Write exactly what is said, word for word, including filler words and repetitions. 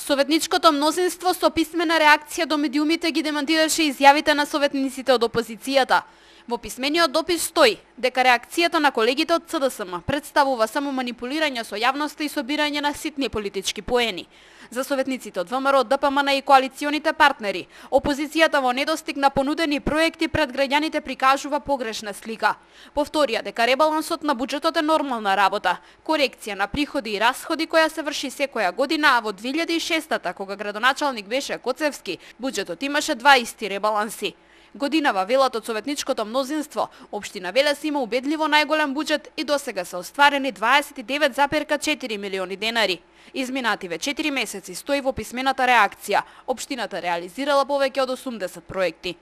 Советничкото мнозинство со писмена реакција до медиумите ги демантираше изјавите на советниците од опозицијата. Во писмениот допис стои дека реакцијата на колегите од Ц Д С М представува само манипулирање со јавноста и собирање на ситни политички поени. За советниците од В М Р, Д П М Н и коалиционите партнери, опозицијата во недостиг на понудени проекти пред граѓаните прикажува погрешна слика. Повторија дека ребалансот на буџетот е нормална работа, корекција на приходи и расходи која се врши секоја година, а во две илјади и шестата, кога градоначалник беше Коцевски, буџетот имаше дваесет ребаланси. Годинава, велат од советничкото мнозинство, општина Велес има убедливо најголем буџет и досега се остварени дваесет и девет запирка четири милиони денари. Изминативе четири месеци стои во писмената реакција. Општината реализирала повеќе од осумдесет проекти.